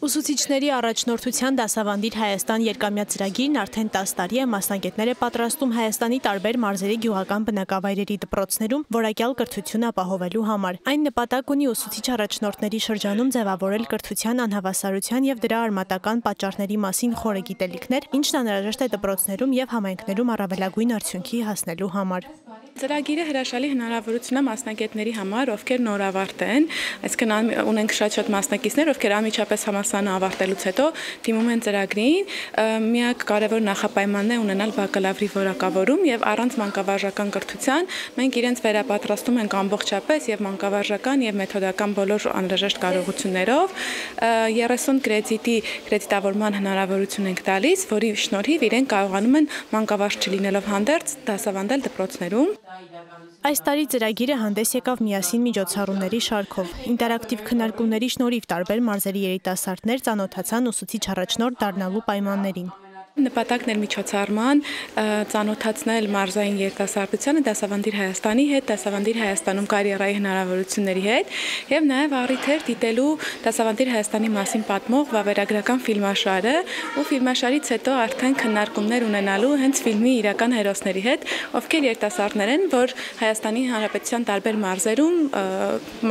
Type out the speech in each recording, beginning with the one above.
Ուսուցիչների առաջնորդության դասավանդիր Հայաստան երկամյա ծրագիրն արդեն 10 տարի է մասնագետներ է պատրաստում Հայաստանի տարբեր մարզերի գյուղական բնակավայրերի դպրոցներում որակյալ կրթություն ապահովելու համար։ Այն նպատակ ունի ուսուցիչ առաջնորդների շրջանում ձևավորել կրթության անհավասարության եւ դրա արմատական պատճառների մասին խորը գիտելիքներ, ինչն անհրաժեշտ է դպրոցներում եւ համայնքներում առավելագույն արդյունքի հասնելու համար։ Ծրագիրը հրաշալի հնարավորություն է մասնագետների համար, ովքեր նորավարտ են, այսինքն ունենք շատ մասնակիցներ, ովքեր անմիջապես համալսարանը ավարտելուց հետո դիմում են ծրագրին, միակ կարևոր նախապայմանն է ունենալ բակալավրի որակավորում եւ առանց մանկավարժական կրթության մենք իրենց վերապատրաստում ենք ամբողջապես եւ մանկավարժական եւ մեթոդական բոլոր անհրաժեշտ կարողություններով 30 կրեդիտի կրեդիտավորման հնարավորություն ենք տալիս, որի շնորհիվ իրենք կարողանում են մանկավարժ չլինելով հանդերձ դասավանդել դպրոցներում։ Այս տարի ծրագիրը հանդես եկավ միասին միջոցառումների շարքով։ Ինտերակտիվ քննարկումների շնորհիվ տարբեր մարզերի երիտասարդներ ծանոթացան ուսուցիչ առաջնորդ դառնալու պայմաններին։ Նպատակն էր միջոցառման ծանոթացնել մարզային երիտասարդությանը դասավանդիր Հայաստանի հետ, դասավանդիր Հայաստանում կարիերայի հնարավորությունների հետ եւ նաեւ առիթ էր դիտելու դասավանդիր Հայաստանի մասին պատմող վավերագրական ֆիլմաշարը ու ֆիլմաշարից հետո արդեն քննարկումներ ունենալու հենց ֆիլմի իրական հերոսների հետ, ովքեր երիտասարդներ են, որ Հայաստանի Հանրապետության տարբեր մարզերում,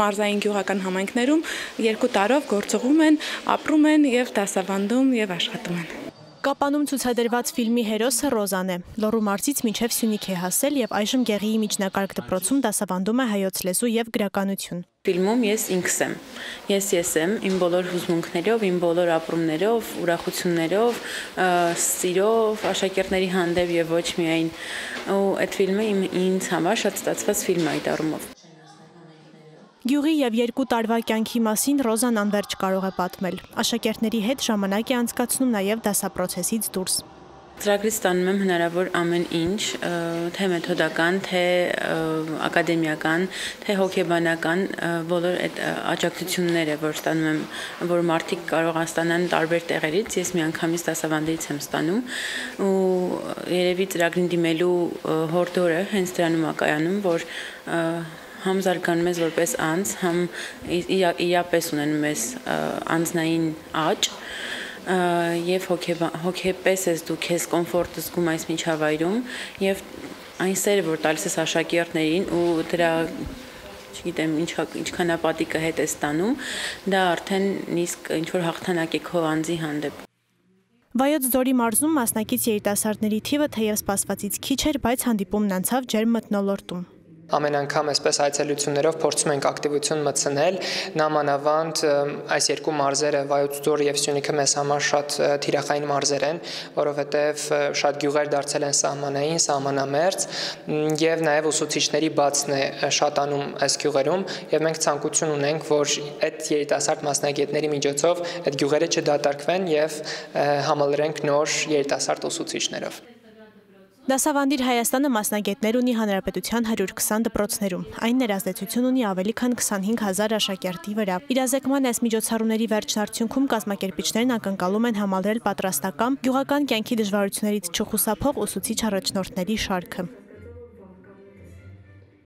մարզային գյուղական համայնքներում 2 տարով գործողում են, ապրում են եւ դասավանդում եւ աշխատում են։ Կապանում ցուցադրված ֆիլմի հերոսը Ռոզան է։ Լոռու մարզից մինչև Սյունիք է հասել եւ այժմ Գեղիի միջնակարգ դպրոցում դասավանդում է հայոց լեզու եւ գրականություն։ Ֆիլմում ես ինքս եմ։ Ես եմ իմ բոլոր հուզմունքներով, իմ բոլոր ապրումներով, ուրախություններով, սիրով, աշակերտների հանդեպ եւ ոչ միայն։ Ու այդ ֆիլմը ինձ համար շատ ստացված ֆիլմ է այդ առումով։ Գյուղի եւ 2 տարվա կյանքի մասին Ռոզան անվերջ կարող է պատմել։ Աշակերտների հետ ժամանակ է անցկացնում նաեւ դասապրոցեսից դուրս։ Ծրագրից ստանում եմ հնարավոր ամեն ինչ, թե մեթոդական, թե ակադեմիական, թե հոգեբանական, բոլոր այդ աջակցությունները, որ ստանում եմ, որ մարդիկ կարող են ստանալ տարբեր տեղերից, ես միանգամից դասավանդից եմ ստանում ու երևի ծրագրին դիմելու հորդորը հենց դրանում է կայանում, որ համ զարգանում ես որպես անձ, համ իրապես ունենում ես անձնային աճ եւ հոգեպես ես դու քեզ կոմֆորտ զգում այս միջավայրում եւ այն սերը, որ տալիս ես աշակերտներին ու դրա չգիտեմ ինչքան ապատիկը հետ է ստանում, դա արդեն իսկ ինչ որ հաղթանակ է քո անձի հանդեպ։ Վայոց ձորի մարզում մասնակից երիտասարդների թիվը թեև սպասվածից քիչ էր, բայց հանդիպումն անցավ ջերմ մթնոլորտում։ Ամեն անգամ այսպես այցելություններով փորձում ենք ակտիվություն մտցնել, նամանավանդ այս երկու մարզերը Վայոց ձոր եւ Սյունիքը մեզ համար շատ թիրախային մարզեր են, որովհետեւ շատ գյուղեր դարձել են սահմանային, սահմանամերձ եւ նաեւ ուսուցիչների բացն է շատանում այս գյուղերում եւ մենք ցանկություն ունենք, որ այդ երիտասարդ մասնագետների միջոցով այդ գյուղերը չդատարկվեն եւ համալրենք նոր երիտասարդ ուսուցիչներով։ Դասավանդիր Հայաստանը մասնագետներ ունի հանրապետության 120 դպրոցներում։ Այն ներազդեցություն ունի ավելի քան 25,000 աշակերտի վրա։ Իրազեկման այս միջոցառումների վերջնարդյունքում կազմակերպիչներն ակնկալում են համալրել պատրաստական գյուղական կյանքի դժվարություններից չխուսափող ուսուցիչ առաջնորդների շարքը։